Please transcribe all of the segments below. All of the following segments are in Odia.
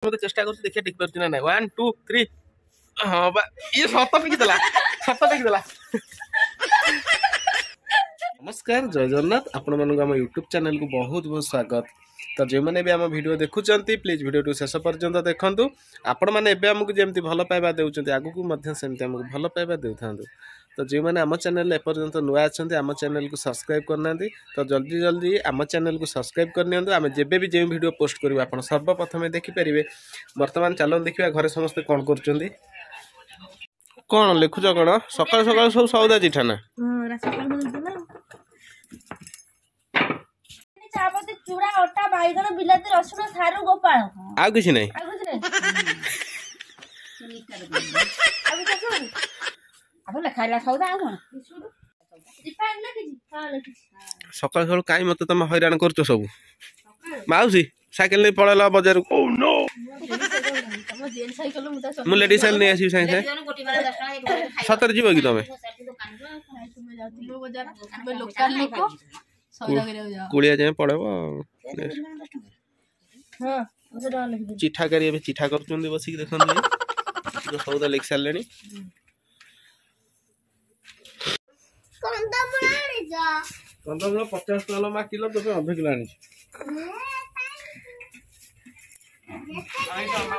ମତେ ଚେଷ୍ଟା କରୁଛି, ଦେଖିବା ଟେକି ପାରୁଛି ନା ନାଇଁ। 1 2 3। ହଁ ବା, ଇଏ ସତ ଟେକିଦେଲା, ସତ ଟେକିଦେଲା। ନମସ୍କାର, ଜୟ ଜଗନ୍ନାଥ। ଆପଣମାନଙ୍କୁ ଆମ ୟୁଟ୍ୟୁବ୍ ଚ୍ୟାନେଲକୁ ବହୁତ ବହୁତ ସ୍ୱାଗତ। ତ ଯେଉଁମାନେ ବି ଆମ ଭିଡ଼ିଓ ଦେଖୁଛନ୍ତି, ପ୍ଲିଜ୍ ଭିଡ଼ିଓଟିକୁ ଶେଷ ପର୍ଯ୍ୟନ୍ତ ଦେଖନ୍ତୁ। ଆପଣମାନେ ଏବେ ଆମକୁ ଯେମିତି ଭଲ ପାଇବା ଦେଉଛନ୍ତି, ଆଗକୁ ମଧ୍ୟ ସେମିତି ଆମକୁ ଭଲ ପାଇବା ଦେଉଥାନ୍ତୁ। ତ ଯେଉଁମାନେ ଆମ ଚ୍ୟାନେଲରେ ଏପର୍ଯ୍ୟନ୍ତ ନୂଆ ଅଛନ୍ତି, ଆମ ଚ୍ୟାନେଲକୁ ସବସ୍କ୍ରାଇବ୍ କରିନାହାନ୍ତି, ତ ଜଲ୍ଦି ଜଲ୍ଦି ଆମ ଚ୍ୟାନେଲକୁ ସବସ୍କ୍ରାଇବ୍ କରିନିଅନ୍ତୁ। ଆମେ ଯେବେ ବି ଯେଉଁ ଭିଡ଼ିଓ ପୋଷ୍ଟ କରିବୁ, ଆପଣ ସର୍ବପ୍ରଥମେ ଦେଖିପାରିବେ। ବର୍ତ୍ତମାନ ଚାଲନ୍ତୁ ଦେଖିବା ଘରେ ସମସ୍ତେ କ'ଣ କରୁଛନ୍ତି। କ'ଣ ଲେଖୁଛ କ'ଣ ସକାଳୁ ସକାଳୁ? ସବୁ ସଉଦା ଚିଠା ନା? ଚୁଡ଼ା, ଅଟା, ବାଇଗଣ, ବିଲାତି, ରସୁଣ, ସାରୁ, ଗୋପାଳ। ଆଉ କିଛି ନାହିଁ? ଆଉ କିଛି ନାହିଁ। ସକାଳୁ ସକାଳୁ କାଇଁ ମତେ ତମେ ହଇରାଣ କରୁଛ ସବୁ? ମାଉସୀ ସାଇକେଲ ନେଇ ପଳେଇଲା ବଜାରକୁ। ମୁଁ ଲେଡିଜ ସାଇକେଲ ନେଇ ଆସିବି ସାଙ୍ଗେ ସାଙ୍ଗେ। ସତରେ ଯିବ କି ତମେ? କୁଳିଆ ଯାଏଁ ପଳେଇବ। ଚିଠା କରି ଏବେ ଚିଠା କରୁଛନ୍ତି ବସିକି, ଦେଖନ୍ତୁ। ସଉଦା ଲେଖି ସାରିଲେଣି। କନ୍ଦମୂଳ 50 ଟଙ୍କା ମା କିଲୋ, ତୋ ପାଇଁ ଅଧ କିଲୋ ଆଣିଛି।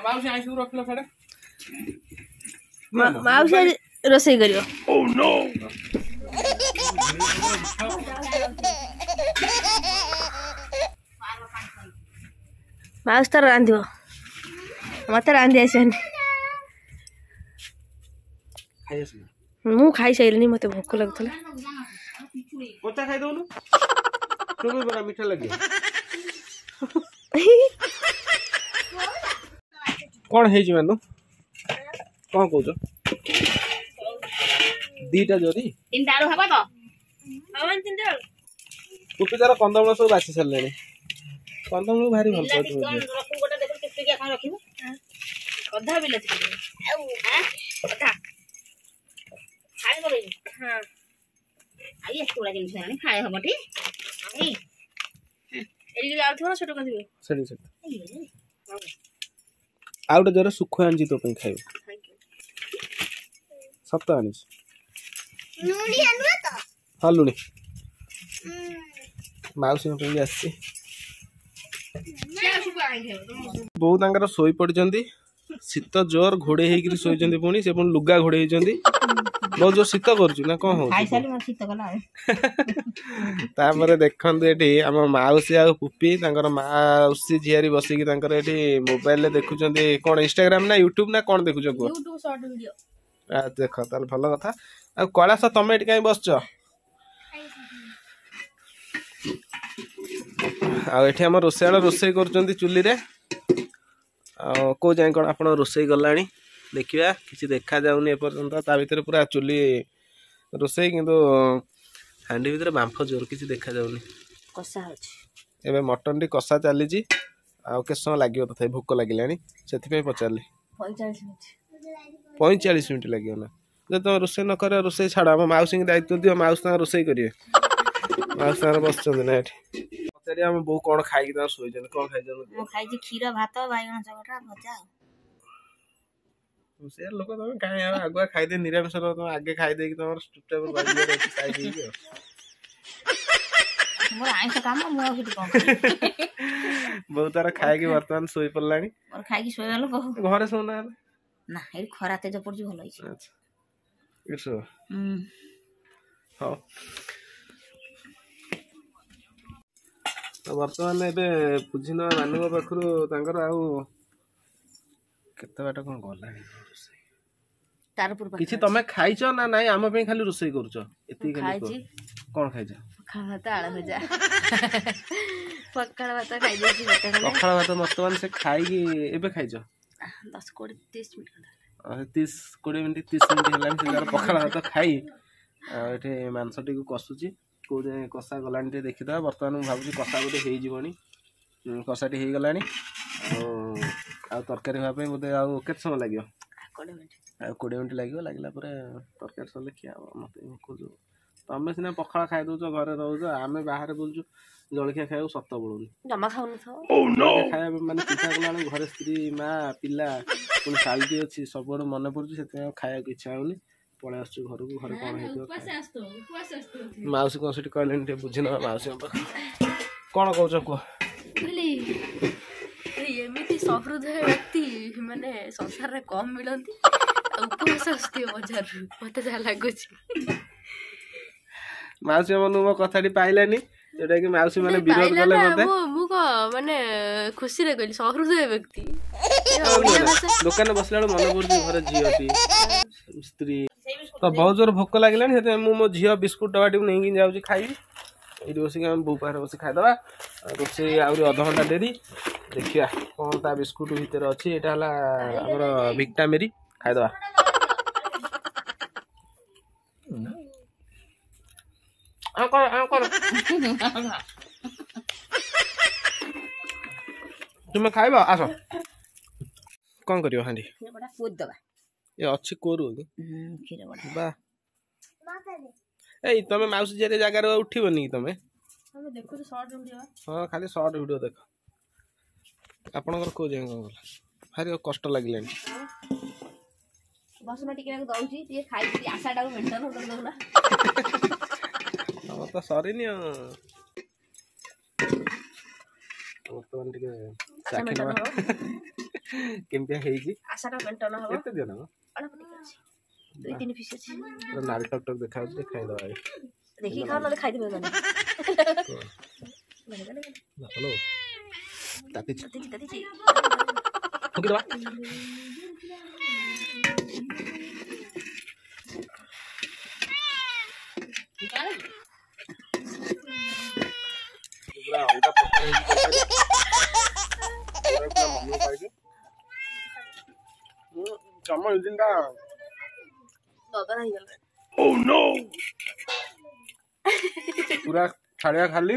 ମାଉସୀ ଆଇଁଷକୁ ରଖିଲ ସାଡେ। ମାଉସୀ ଆଜି ରୋଷେଇ କରିବ। ମାଉସୀ ତାର ରାନ୍ଧିବ, ମତେ ରାନ୍ଧି ଆସିବନି। ମୁଁ ଖାଇସାରିଲିଣି, ମତେ ଭୋକ ଲାଗୁଥିଲା। କଞ୍ଚା ଖାଇଦଉନୁ, ମିଠା ଲାଗିବ। କ'ଣ ହେଇଛି ମାନୁ? କ'ଣ କହୁଛ? ଦିଟା ଜରି, ତିନିଟା ଆଳୁ ହବ ତ? ଟୁପି ତାର କନ୍ଦମୂଳ ସବୁ ବାଛି ସାରିଲେଣି। କନ୍ଦମୂଳ ଭାରି ଭଲ ପାଉଛି। ଅଧା ବିଲାତି, ଅଧା ଆଉ ଏତେ ଗୁଡ଼ା ଜିନିଷ ହେଲାଣି, ଫାଳେ ହବ ଟି। ଏଠି ଆଳୁ ଥିବ ନା ଛୋଟ କରିଥିବ? ସେଠି ସେଠି ଆଉ ଗୋଟେ ଜର ଶୁଖୁଆ ଆଣିଛି ତୋ ପାଇଁ, ଖାଇବୁ। ସତ ଆଣିଛି। ହଁ, ଲୁଣି ମାଉସୀଙ୍କ ପାଇଁ ବି ଆସିଛି। ବୋଉ ତାଙ୍କର ଶୋଇ ପଡିଛନ୍ତି। ଶୀତ ଜୋର, ଘୋଡେଇ ହେଇକିରି ଶୋଇଛନ୍ତି। ପୁଣି ସେ ପୁଣି ଲୁଗା ଘୋଡେଇ ହେଇଛନ୍ତି। ବହୁତ ଜୋର ଶୀତ କରୁଛି ନା କଣ ହଉଛି? ତାପରେ ଦେଖନ୍ତୁ, ଏଠି ଆମ ମାଉସୀ ଆଉ ପୁପି ତାଙ୍କର ମାଉସୀ ଝିଆରୀ ବସିକି ତାଙ୍କର ଏଠି ମୋବାଇଲରେ ଦେଖୁଛନ୍ତି କଣ? ଇନଷ୍ଟାଗ୍ରାମ ନା ୟୁଟ୍ୟୁବ ନା କଣ ଦେଖୁଛ କୁହ? ଦେଖ ତାହେଲେ, ଭଲ କଥା। ଆଉ କୈଳାସ, ତମେ ଏଠି କାହିଁ ବସିଛ? ଆଉ ଏଠି ଆମ ରୋଷେଇଆଳ ରୋଷେଇ କରୁଛନ୍ତି ଚୁଲିରେ। ଆଉ କୋଉ ଯାଏଁ କ'ଣ ଆପଣ ରୋଷେଇ ଗଲାଣି ଦେଖିବା। କିଛି ଦେଖାଯାଉନି ଏପର୍ଯ୍ୟନ୍ତ, ତା ଭିତରେ ପୁରା ଚୁଲି ରୋଷେଇ, କିନ୍ତୁ ହାଣ୍ଡି ଭିତରେ ବାମ୍ଫ ଜୋର, କିଛି ଦେଖାଯାଉନି। କଷା ହଉଛି ଏବେ ମଟନଟି, କଷା ଚାଲିଛି। ଆଉ କେତେ ସମୟ ଲାଗିବ ତଥାପି? ଭୋକ ଲାଗିଲାଣି, ସେଥିପାଇଁ ପଚାରିଲି। 45 ମିନିଟ୍। 45 ମିନିଟ୍ ଲାଗିବ ନା? ଯଦି ତମେ ରୋଷେଇ ନ କର, ରୋଷେଇ ଛାଡ଼, ଆମ ମାଉସୀଙ୍କୁ ଦାୟିତ୍ୱ ଦିଅ, ମାଉସୀ ତାଙ୍କର ରୋଷେଇ କରିବେ। ମାଉସୀ ତାଙ୍କର ବସିଛନ୍ତି ନା ଏଠି। ପଚାରିବା ଆମ ବୋଉ କ'ଣ ଖାଇକି ତାଙ୍କର ଶୋଇଛନ୍ତି। କ'ଣ ଖାଇଛନ୍ତି? ମୁଁ ଖାଇଛି କ୍ଷୀର, ଭାତ, ବାଇଗଣ ଚକଟା, ଭଜା। ଆଉ ସେ ଲୋକ ତମେ କାହିଁ ଆଉ ଆଗୁଆ ଖାଇଦେଇ, ନିରାମିଷ ତମେ ଆଗେ ଖାଇଦେଇକି ତମର ଚୁପଚାପ ରହିଯିବାର ଅଛି ଖାଇଦେଇକି। ଆଉ ମୋର ଆଇଁଷ କାମ, ମୁଁ ଆଉ ସେଠି କଣ? ବୋଉ ତାର ଖାଇକି ବର୍ତ୍ତମାନ ଶୋଇ ପଡିଲାଣି। ମୋର ଖାଇକି ଶୋଇବା ଲୋକ। ଘରେ ଶୋଉନା ହେଲେ? ନା, ଏଠି ଖରା ତେଜ ପଡୁଛି, ଭଲ ହେଇଛି। ଆଚ୍ଛା, ଏଠି ଶୋ। ହଉ, ତ ବର୍ତ୍ତମାନ ଏବେ ବୁଝିନବା ମାନଙ୍କ ପାଖରୁ ତାଙ୍କର ଆଉ କେତେ ବାଟ କ'ଣ ଗଲାଣି ରୋଷେଇ। କିଛି ତମେ ଖାଇଛ ନା ନାଇଁ? ଆମ ପାଇଁ ଖାଲି ରୋଷେଇ କରୁଛ? ଏତିକି ଖାଲି କଣ ଖାଇଛ? ପଖାଳ ଭାତ, ଆଳୁ ଭଜା। ପଖାଳ ଭାତ ଖାଇଦେଇଛି। ପଖାଳ ଭାତ ବର୍ତ୍ତମାନ ସେ ଖାଇକି ଏବେ ଖାଇଛ? 10 20 30 ମିନିଟ୍। 30 20 ମିନିଟ୍, 30 ମିନିଟ୍ ହେଲାଣି। ସେ ତାର ପଖାଳ ଭାତ ଖାଇ ଆଉ ଏଠି ମାଂସଟିକୁ କଷୁଛି। କୋଉ ଯାଏଁ କଷା ଗଲାଣି ଟିକେ ଦେଖିଦେବା। ବର୍ତ୍ତମାନ ମୁଁ ଭାବୁଛି କଷା ବୋଧେ ହେଇଯିବଣି। କଷାଟି ହେଇଗଲାଣି। ଆଉ ତରକାରୀ ହେବା ପାଇଁ ବୋଧେ ଆଉ କେତେ ସମୟ ଲାଗିବ? ଆଉ 20 ମିନିଟ୍ ଲାଗିବ। ଲାଗିଲା ପରେ ତରକାରୀ ସରିଲେ ଖିଆ ହେବ। ମୋତେ ଭୋକ ଯେଉଁ ତମେ ସିନା ପଖାଳ ଖାଇ ଦଉଛ, ଘରେ ରହୁଛ, ଆମେ ବାହାରେ ବୁଲୁଛୁ, ଜଳଖିଆ ଖାଇବାକୁ ସତ ପଡୁନି। ଜମା ଖାଉନଥିବ। ଖାଇବା ମାନେ ଚିନ୍ତା କଲା ବେଳକୁ ଘରେ ସ୍ତ୍ରୀ, ମା, ପିଲା, ପୁଣି ଶାଳୀଟି ଅଛି, ସବୁଆଡୁ ମନେ ପଡୁଛି, ସେଥିପାଇଁ ଆଉ ଖାଇବାକୁ ଇଚ୍ଛା ହଉନି। ପଳେଇ ଆସୁଛୁ ଘରକୁ, ଘରେ କଣ ହେଇଥିବ। ମାଉସୀ କଣ ସେଠି କହିଲେଣି, ଟିକେ ବୁଝି ନବା ମାଉସୀଙ୍କ ପାଖରେ। କଣ କହୁଛ କୁହ? ଏମିତି ସହୃଦୟ ବ୍ୟକ୍ତି ମାନେ ସଂସାରରେ କମ ମିଳନ୍ତି। ଆଉ ଉପବାସ ଆସୁଥିବ ବଜାରରୁ, ମତେ ଯାହା ଲାଗୁଛି। ମାଉସୀ ମନକୁ ମୋ କଥାଟି ପାଇଲାନି, ଯୋଉଟା କି ମାଉସୀ ମାନେ ବିରୋଧ କଲେ ମତେ। ମୁଁ କଣ ମାନେ ଖୁସିରେ କହିଲି ସହୃଦୟ ବ୍ୟକ୍ତି। ଦୋକାନରେ ବସିଲା ବେଳକୁ ମନେ ପଡୁଛି ଘରେ ଝିଅଟି, ସ୍ତ୍ରୀ। ତ ବହୁତ ଜୋର ଭୋକ ଲାଗିଲାଣି, ସେଥିପାଇଁ ମୁଁ ମୋ ଝିଅ ବିସ୍କୁଟ ଡବାଟିକୁ ନେଇକି ଯାଉଛି ଖାଇବି। ଏଇଠି ବସିକି ଆମେ ବୋଉ ପାଖରେ ବସି ଖାଇଦେବା। ରୋଷେଇ ଆହୁରି ଅଧଘଣ୍ଟା ଡେରି। ଦେଖିବା କଣ ତା ବିସ୍କୁଟ ଭିତରେ ଅଛି। ଏଇଟା ହେଲା ଆମର ଭିକ୍ଟାମେରି, ଖାଇଦେବା। କର, ତୁମେ ଖାଇବ, ଆସ। କଣ କରିବ ହାଣ୍ଡି? ଏ ଅଛି କୋରୁ ବା। ଏଇ ତମେ ମାଉସୀ ଝିଅରେ ଜାଗାରେ ଉଠିବନି କି ତମେ? ହଁ, ଖାଲି ସର୍ଟ ଭିଡିଓ ଦେଖ। ଆପଣଙ୍କର କୋଉ ଯାଏଁ କଣ ଗଲା? ଭାରି କଷ୍ଟ ଲାଗିଲାଣି। ବସୁନ ଟିକେ, ଦଉଛି ଟିକେ ଖାଇକି ଆଶାଟାକୁ ମେଣ୍ଟେନ କରିଦଉନା। ତମର ତ ସରିନି। ଆଉ ବର୍ତ୍ତମାନ ଟିକେ ଚାଖି ନବା କେମିତିଆ ହେଇଛି। ଆଶାଟା ମେଣ୍ଟେନ ହବ। କେତେ ଦିଅ ନା? ଅଳ୍ପ ଟିକେ ଅଛି, 2-3 ପିସ୍ ଅଛି। ପୁରା ନାଲି ଟକ୍ ଟକ୍ ଦେଖାଯାଉଛି, ଖାଇଦବା। ଦେଖିକି ଖାଅ, ନହେଲେ ଖାଇଦେବେ ମାନେ। ହ୍ୟାଲୋ, ତାତିଛି, ତାତିଛି। ଫୁଙ୍କିଦବା। ପୁରା ଅଲଗା ପ୍ରକାର ହେଇଛି ତରକାରୀ, ପୁରା ମନ ପାଇଛି। ତମ ଇଞ୍ଜିନଟା ପୁରା ଛାଡ଼ିଆ ଖାଲି।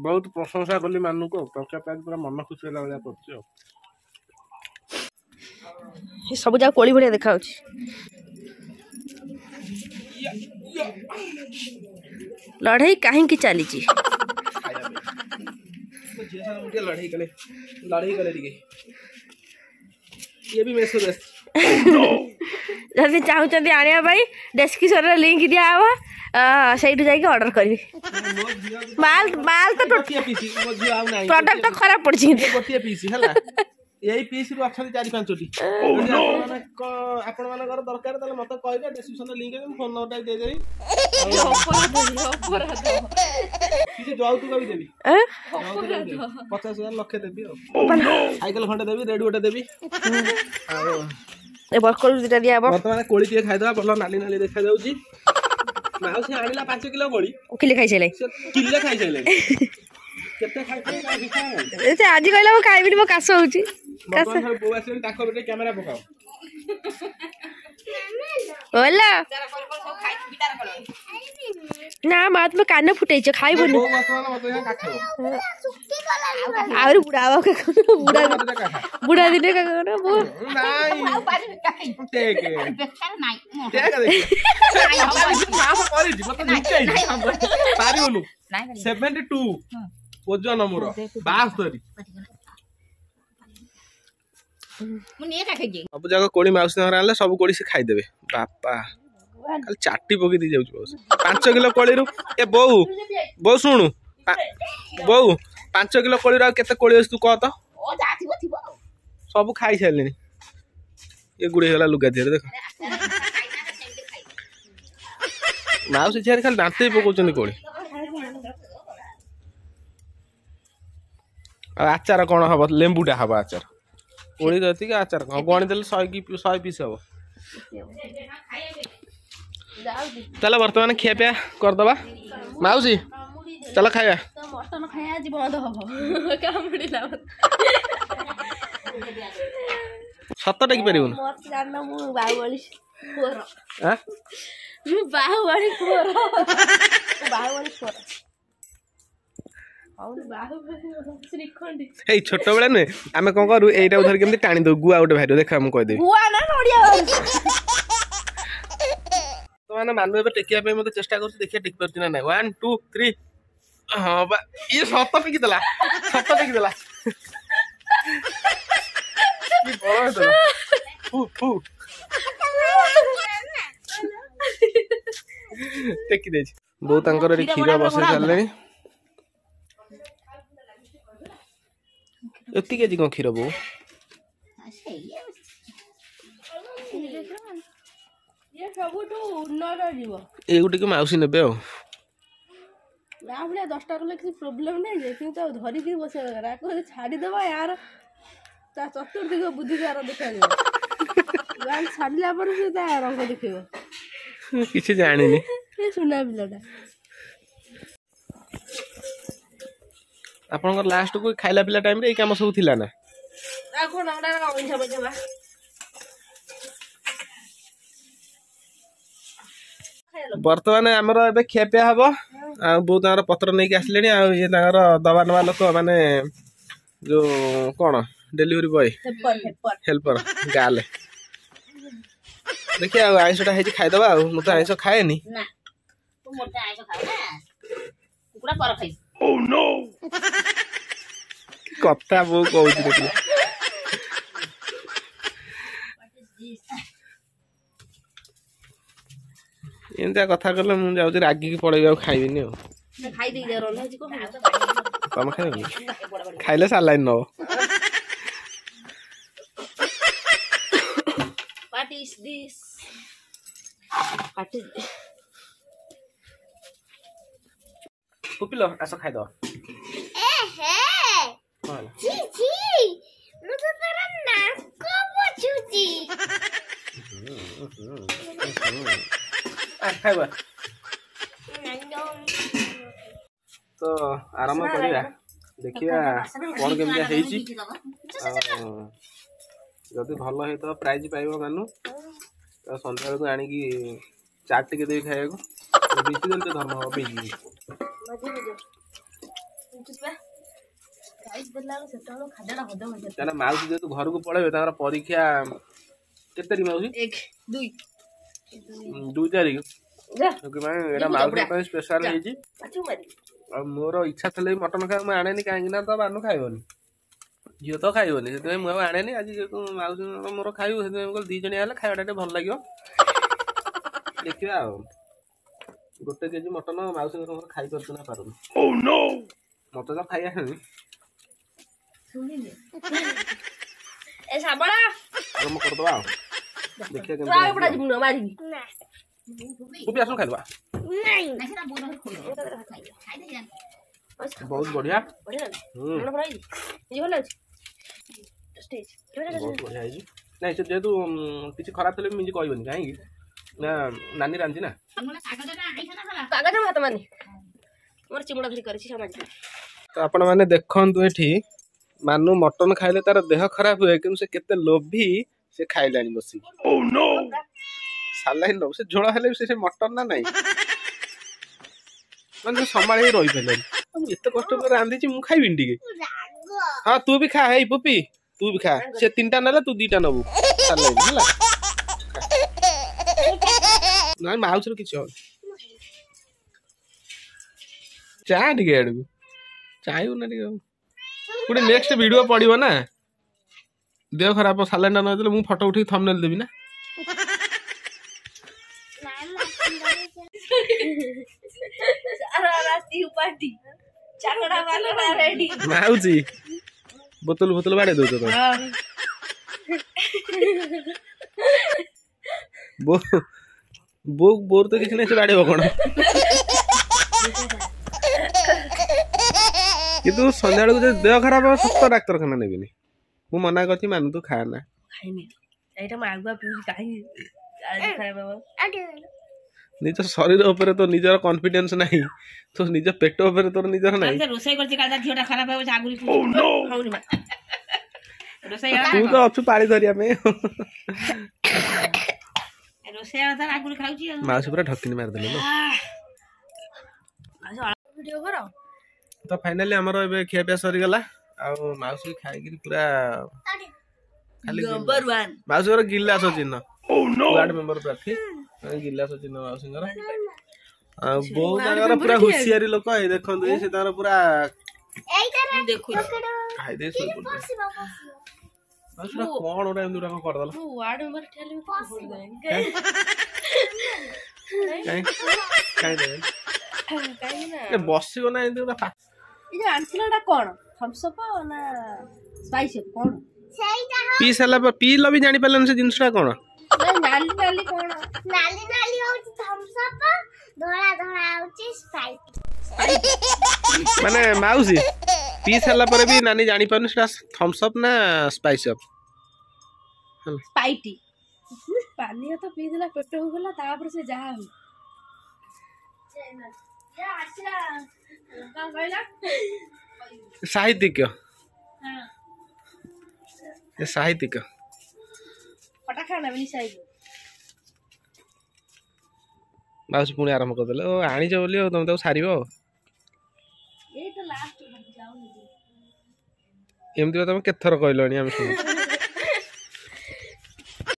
ବହୁତ ପ୍ରଶଂସା କଲି ମାନଙ୍କୁ, ଆଉ ତରକାରୀ ପାଇକି ପୁରା ମନ ଖୁସି ହେଲା ଭଳିଆ କରୁଛି। ଆଉ ସବୁ ଯାକ କୋଳି ଭଳିଆ ଦେଖାଯାଉଛି। ଲଢେଇ କାହିଁକି ଚାଲିଛି? ଲଢେଇ କଲେ, ଲଢେଇ କଲେ ଟିକେ। ଇଏ ବି ମେସେଜ ଆସିଛି। ଯଦି ଚାହୁଁଛନ୍ତି ଆଣିବା ପାଇଁ, ଡେସ୍କ୍ରିପସନରେ ଲିଙ୍କ ଦିଆହବ, ସେଇଠୁ ଯାଇକି ଅର୍ଡର କରିବେ। ମାଲ ମାଲ ତ ପ୍ରଡକ୍ଟ ଖରାପ ପଡିଛି। ଗୋଟିଏ ପିସ୍ ହେଲା, ଏଇ ପିସ୍ ରୁ ଅଛନ୍ତି 4-5ଟି। ଆପଣ ମାନଙ୍କର ଦରକାର ତାହେଲେ ମତେ କହିବେ, ଡେସ୍କ୍ରିପସନରେ ଲିଙ୍କ ଅଛି, ଫୋନ ନମ୍ବରଟା ଦେଇଦେବି, କିଛି ଯୌତୁକ ବି ଦେବି, 50,000 ଲକ୍ଷେ ଦେବି, ଆଉ ସାଇକେଲ ଖଣ୍ଡେ ଦେବି, ରେଡି ଗୋଟେ ଦେବି। ଆଉ ଏ ବରକୋଳି ଦିଟା ଦିଆହବ। ବର୍ତ୍ତମାନ କୋଳି ଟିକେ ଖାଇଦବା। ଭଲ ନାଲି ନାଲି ଦେଖାଯାଉଛି। ମାଉସୀ ଆଣିଲା 5 କିଲୋ କୋଳି, କିଲେ ଖାଇସାରିଲେ, କିଲେ ଖାଇସାରିଲେଣି। କେତେ ଖାଇଥିଲେ ସେ? ଆଜି କହିଲା ମୁଁ ଖାଇବିନି, ମୋ କାଶ ହଉଛି। ବୋଉ ଆସିଲେଣି, ତାଙ୍କ ଗୋଟେ କ୍ୟାମେରା ପକାଅ। ବୋଲ ନା ମା, ତୁମେ କାନ ଫୁଟେଇଛ, ଖାଇବନି। ଆହୁରି ବୁଢା ହବ, ବୁଢା ବୁଢା ଦିନେ। ପାରିବୁନୁ। 72 ଓଜନ ମୋର, 72। ସବୁ ଯାକ କୋଳି ମାଉସୀ ଘରେ ଆଣିଲେ, ସବୁ କୋଳି ସେ ଖାଇଦେବେ। ବାପା ଖାଲି ଚାଟି ପକେଇ ଦେଇ ଯାଉଛି ମାଉସୀ। 5 କିଲୋ କୋଳିରୁ, ଏ ବୋଉ, ବୋଉ ଶୁଣୁ ବୋଉ, 5 କିଲୋ କୋଳିରୁ ଆଉ କେତେ କୋଳି ଅଛି ତୁ କହ ତ? ସବୁ ଖାଇସାରିଲେଣି। ଇଏ ଗୁଡେଇ ହେଇଗଲା ଲୁଗା ଦିହରେ ଦେଖ। ମାଉସୀ ଝିଆରୀ ଖାଲି ଦାନ୍ତେଇ ପକଉଛନ୍ତି କୋଳି। ଆଉ ଆଚାର କଣ ହବ? ଲେମ୍ବୁଟା ହବ ଆଚାର। କୋଳି ଯେତିକି, ଆଚାର କଣ ଗଣି ଦେଲେ 100 କି 100 ପିସ୍ ହବ। ଚାଲ ବର୍ତ୍ତମାନ ଖିଆପିଆ କରିଦବା। ମାଉସୀ ଚାଲ ଖାଇବା। ମଟନ ଖାଇବା ଆଜି ବନ୍ଦ ହବ, କାମୁଡ଼ିଲା। ସତ ଟେକି ପାରିବୁନି? ମୁଁ ବାହୁବଳି ପୁଅର, ମୁଁ ବାହୁବଳି ପୁଅର, ବାହୁବଳି ପୁଅର। ଏଇ ଛୋଟବେଳେ ନୁହେଁ, ଆମେ କଣ କରୁ, ଏଇଟାକୁ ଧରିକି ଏମିତି ଟାଣି ଦଉ, ଗୁଆ ଗୋଟେ ବାହାରିବ। ଦେଖ, ମୁଁ କହିଦେବି। ଗୁଆ ନା ନଡିଆ। ବର୍ତ୍ତମାନ ମାନୁ ଏବେ ଟେକିବା ପାଇଁ ମତେ ଚେଷ୍ଟା କରୁଛି, ଦେଖିବା ଟେକି ପାରୁଛି ନା ନାଇଁ। 1 2 3। ହଁ ବା, ଇଏ ସତ ଟେକିଦେଲା, ସତ ଟେକିଦେଲା। କି ବଳ ହେଇଥିଲା। ଫୁ ଫୁ ଟେକି ଦେଇଛି। ବୋଉ ତାଙ୍କର ଏଠି କ୍ଷୀର ବସେଇ ସାରିଲେଣି। ଏତିକି ଆଜି କଣ କ୍ଷୀର ବୋଉ? ଏଇକୁ ଟିକେ ମାଉସୀ ନେବେ। ଆଉ ନା ଭଳିଆ 10ଟା କଲେ କିଛି ପ୍ରୋବ୍ଲେମ ନାହିଁ ଯେ, କିନ୍ତୁ ତାକୁ ଧରିକି ବସିବା ଦରକାର। ଆକୁ ଯଦି ଛାଡ଼ିଦେବା, ୟାର ତା ଚତୁର୍ଦିଗ ବୁଦ୍ଧି ତାର ଦେଖାଯିବ। ଛାଡ଼ିଲା ପରେ ସେ ତା ରଙ୍ଗ ଦେଖେଇବ। କିଛି ଜାଣିନି ସୁନା ପିଲାଟା। ଆପଣଙ୍କର ଲାଷ୍ଟକୁ ଖାଇଲା ପିଲା ଟାଇମରେ ଏଇ କାମ ସବୁ ଥିଲା ନା? ଆଉ କଣ? ଅଇଁଠା ପଇଠା ବା। ବର୍ତ୍ତମାନ ଆମର ଏବେ ଖିଆପିଆ ହବ, ଆଉ ବୋଉ ତାଙ୍କର ପତ୍ର ନେଇକି ଆସିଲେଣି। ଆଉ ଇଏ ତାଙ୍କର ଦବା ନବା ଲୋକ, ମାନେ ଯୋଉ କଣ ଡେଲିଭରି ବୟ, ହେଲ୍ପର ଗାଲେ। ଦେଖିବା, ଆଉ ଆଇଁଷଟା ହେଇଛି, ଖାଇଦବା। ଆଉ ମୁଁ ତ ଆଇଁଷ ଖାଏନି। କଥା ବୋଉ କହୁଛି ଦେଖିଲେ। ଏମିତିଆ କଥା କଲେ ମୁଁ ଯାଉଛି ରାଗିକି ପଳେଇବି, ଆଉ ଖାଇବିନି। ଆଉ ତମେ ଖାଇବନି? ଖାଇଲେ ସାଲାଇନ୍ ନବ। ପୁପିଲ, ଆସ ଖାଇଦବା। ଖାଇବା ତ ଆରମ୍ଭ କରିବା, ଦେଖିବା କଣ କେମିତିଆ ହେଇଛି। ଆଉ ଯଦି ଭଲ ହେଇଥିବ ପ୍ରାଇଜ ପାଇବ ମାନୁ। ତ ସନ୍ଧ୍ୟାବେଳକୁ ଆଣିକି ଚାଟ୍ ଟିକେ ଦେବି ଖାଇବାକୁ। ବିଜି ଦେଲେ ତ ଧର୍ମ ହବ। ବିଜି କାହିଁକିନା ମାଉସୀ ଯେହେତୁ ଘରକୁ ପଳେଇବେ, ତାଙ୍କର ପରୀକ୍ଷା କେତେ ତାରିଖ ମାଉସୀ? 2, 2 ତାରିଖ। ସେଥିପାଇଁ ଏଇଟା ମାଉସୀଙ୍କ ପାଇଁ ସ୍ପେଶାଲ ହେଇଛି। ଆଉ ମୋର ଇଚ୍ଛା ଥିଲେ ବି ମଟନ ଖାଇବା ମୁଁ ଆଣେନି, କାହିଁକି ନା ତ ମାନୁ ଖାଇବନି, ଝିଅ ତ ଖାଇବନି, ସେଥିପାଇଁ ମୁଁ ଆଉ ଆଣେନି। ଆଜି ଯେହେତୁ ମାଉସୀଙ୍କର ମୋର ଖାଇବୁ, ସେଥିପାଇଁ ମୁଁ କହିଲି 2 ଜଣିଆ ହେଲେ ଖାଇବାଟା ଟିକେ ଭଲ ଲାଗିବ। ଦେଖିବା, ଆଉ 1 କେଜି ମଟନ ମାଉସୀଙ୍କର ମୋର ଖାଇପାରୁଛୁ ନା ପାରୁନୁ। ମତେ ତ ଖାଇ ଆସେନି। ଆରମ୍ଭ କରିଦବା ଆଉ ଦେଖିବା କେମିତି। ପୁପି, ଆସୁନ ଖାଇଦବା। ବହୁତ ବଢିଆ, ବହୁତ ବଢିଆ ହେଇଛି। ନାଇଁ, ସେ ଯେହେତୁ କିଛି ଖରାପ ଥିଲେ ବି ମିଞ୍ଜି କହିବନି, କାହିଁକି ନା ନାନୀ ରାନ୍ଧିଛି ନା। ଭାତ ମାନେ ମୋର ଚିମୁଡ଼ା ଧରି କରିଛି ସମାଜ। ତ ଆପଣମାନେ ଦେଖନ୍ତୁ, ଏଠି ମାନୁ ମଟନ ଖାଇଲେ ତାର ଦେହ ଖରାପ ହୁଏ, କିନ୍ତୁ ସେ କେତେ ଲୋଭି, ସେ ଖାଇଲାଣି ବସିକି। ସାଲାଇନ୍ ନବ ସେ, ଝୋଳ ହେଲେ ବି ସେ ମଟନ ନା ନାଇଁ, ମାନେ ସେ ସମ୍ଭାଳି ହେଇ ରହିପାରିଲାନି। ମୁଁ ଏତେ କଷ୍ଟ କରି ରାନ୍ଧିଛି, ମୁଁ ଖାଇବିନି ଟିକେ? ହଁ, ତୁ ବି ଖା। ହେଇ ପୁପି, ତୁ ବି ଖା। ସେ 3ଟା ନେଲେ ତୁ 2ଟା ନବୁ ସାଲାଇନ୍ ହେଲା। ନାଇଁ, ମାଉସୀର କିଛି ହବନି। ଚା ଟିକେ ଆଡକୁ ଚାହିଁବୁ ନା ଟିକେ? ଗୋଟେ ନେକ୍ସଟ ଭିଡିଓ ପଡିବ ନା, ଦେହ ଖରାପ ସାଲାଇନ୍ ଟା ନଦେଲେ ମୁଁ ଫଟୋ ଉଠେଇକି ଥମ୍ବନେଲ ଦେବି ନା। ମାଉସୀ ବୋତଲ ବୋତଲ ବାଡେଇ ଦଉଛ ତମେ। ବୋଉ, ବୋର ତ କିଛି ନାହିଁ, ସେ ବାଡେଇବ କଣ? କିନ୍ତୁ ସନ୍ଧ୍ୟାବେଳକୁ ଯଦି ଦେହ ଖରାପ ହବ, ସତ ଡାକ୍ତରଖାନା ନେବିନି। ମୁଁ ମନା କରିଛି, ମାନୁ ତୁ ଖା ନା। ଖାଇନି ଏଇଟା, ମୁଁ ଆଗୁଆ ପିଉଛି। କାହିଁକି ନିଜ ଶରୀର ଉପରେ ତୋ ନିଜର କନଫିଡେନ୍ସ ନାହିଁ? ତୋ ନିଜ ପେଟ ଉପରେ ତୋର ନିଜର ନାହିଁ? ରୋଷେଇ କରୁଛି, କାଲି ଝିଅଟା ଖରାପ ହେବ। ଆଗୁରି ରୋଷେଇ ତୁ ତ ଅଛୁ ପାଳି ଧରିବା ପାଇଁ। ରୋଷେଇ ଆଗୁରି ଖାଉଛି। ମାଉସୀ ପୁରା ଢକିନି ମାରିଦେଲେ। ତ ଫାଇନାଲି ଆମର ଏବେ ଖିଆପିଆ ସରିଗଲା, ଆଉ ମାଉସୀ ଖାଇକିରି ପୁରା ଖାଲି ମାଉସୀଙ୍କର ଗିଲାସ ଚିହ୍ନ। ୱାର୍ଡ ମେମ୍ବର ପ୍ରାର୍ଥୀ ଗିଲାସ ଚିହ୍ନ ମାଉସୀଙ୍କର। ଆଉ ବୋଉ ତାଙ୍କର ପୁରା ହୁସିଆରି ଲୋକ, ଏଇ ଦେଖନ୍ତୁ, ସେ ତାଙ୍କର ପୁରା ଖାଇଦେଇ ଶୋଇପଡୁଛନ୍ତି। କଣ ଗୋଟେ ଏମିତି ଗୋଟେ କରିଦେଲା? କାଇଁ ବସିବ ନା ଏମିତି ଗୋଟେ। ଏଇ ଯୋଉ ଆଣିଥିଲ ଏଟା କଣ, ଥମ୍ସ ଅପ୍ ନା ସ୍ପାଇସ୍ ଅପ୍ କଣ? ପିଇ ସାରିଲା ପରେ ପିଇଲ ବି ଜାଣିପାରିଲନି ସେ ଜିନିଷଟା କଣ? ନାଲି ନାଲି କଣ? ନାଲି ନାଲି ହଉଛି ଥମ୍ସ ଅପ୍, ଧଳା ଧଳା ହଉଛି ସ୍ପ୍ରାଇଟ୍। ମାନେ ମାଉସୀ, ପିଇ ସାରିଲା ପରେ ବି ନାନୀ ଜାଣିପାରୁନି ସେଟା ଥମ୍ସ ଅପ୍ ନା ସ୍ପାଇସ୍ ଅପ୍। ସ୍ପାଇଟି ପାନୀୟ ତ ପିଇଦେଲା, ପେଟ ହେଇଗଲା, ତାପରେ ସେ ଯାହା ହଉ। ସାହିତ୍ୟିକ, ସାହିତ୍ୟିକ। ମାଉସୀ ପୁଣି ଆରମ୍ଭ କରିଦେଲେ। ଓ ଆଣିଛ ବୋଲି, ଆଉ ତମେ ତାକୁ ସାରିବ। ଆଉ ଏମିତି ତମେ କେତେଥର କହିଲଣି, ଆମେ ଶୁଣୁଛୁ।